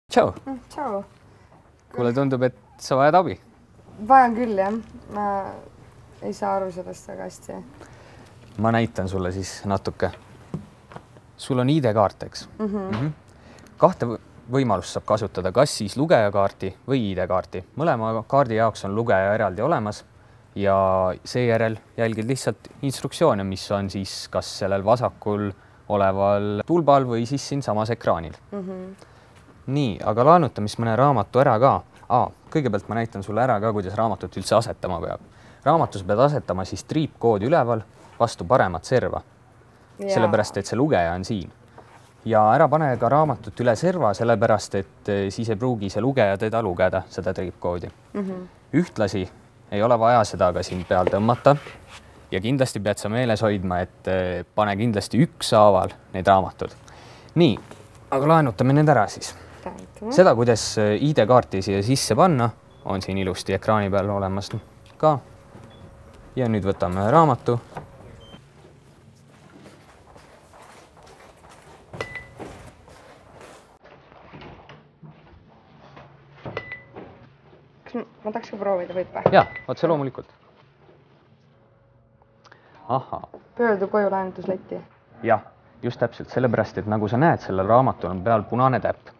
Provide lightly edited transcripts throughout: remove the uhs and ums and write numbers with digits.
Tšau! Tšau! Kuule, tundub, et sa vajad abi. Vajan küll, jah. Ma ei saa aru sellest väga hästi. Ma näitan sulle siis natuke. Sul on ID-kaart, eks? Kahte võimalust saab kasutada, kas siis lugejakaarti või ID-kaarti. Mõlema kaardi jaoks on lugeja eraldi olemas ja seejärel jälgid lihtsalt instruktsioone, mis on siis kas sellel vasakul oleval tulbal või siis siin samas ekraanil. Nii, aga laenuta mis mõne raamatu ära ka. Kõigepealt ma näitan sulle ära ka, kuidas raamatut üldse asetama peab. Raamatus pead asetama siis triipkoodi üleval vastu paremat serva. Sellepärast, et see lugeja on siin. Ja ära pane ka raamatut üle serva, sellepärast, et siis ei pruugi see lugeja teda lugeda, seda triipkoodi. Ühtlasi ei ole vaja seda ka siin peal tõmmata ja kindlasti pead sa meeles hoidma, et pane kindlasti ükshaaval need raamatud. Nii, aga laenutame need ära siis. Seda, kuidas ID-kaarti siia sisse panna, on siin ilusti ekraani peal olemas ka. Ja nüüd võtame raamatu. Kas ma tahaks ka proovida, võib või? Jaa, otse loomulikult. Pöördu koju laenutusletti. Jah, just täpselt sellepärast, et nagu sa näed, sellel raamatul on peal punane täpp.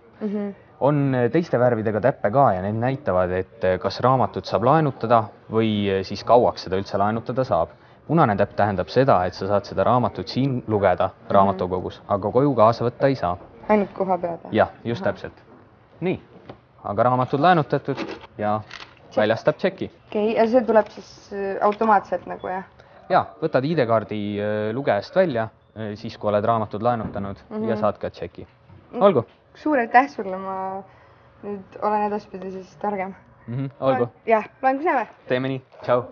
On teiste värvidega täppe ka ja need näitavad, et kas raamatut saab laenutada või siis kauaks seda üldse laenutada saab. Punane täpp tähendab seda, et sa saad seda raamatut siin lugeda raamatukogus, aga koju kaasa võtta ei saa. Ainult koha peada? Jah, just täpselt. Nii, aga raamatud laenutatud ja väljastab tšeki. Okei, ja see tuleb siis automaatselt nagu, jah? Jaa, võtad ID-kaardi lugejast välja, siis kui oled raamatud laenutanud ja saad ka tšeki. Olgu! Suur aitäh sulle, ma nüüd olen edaspidi siis targem. Olgu! Jah, loen kus näeme! Teeme nii, tšau!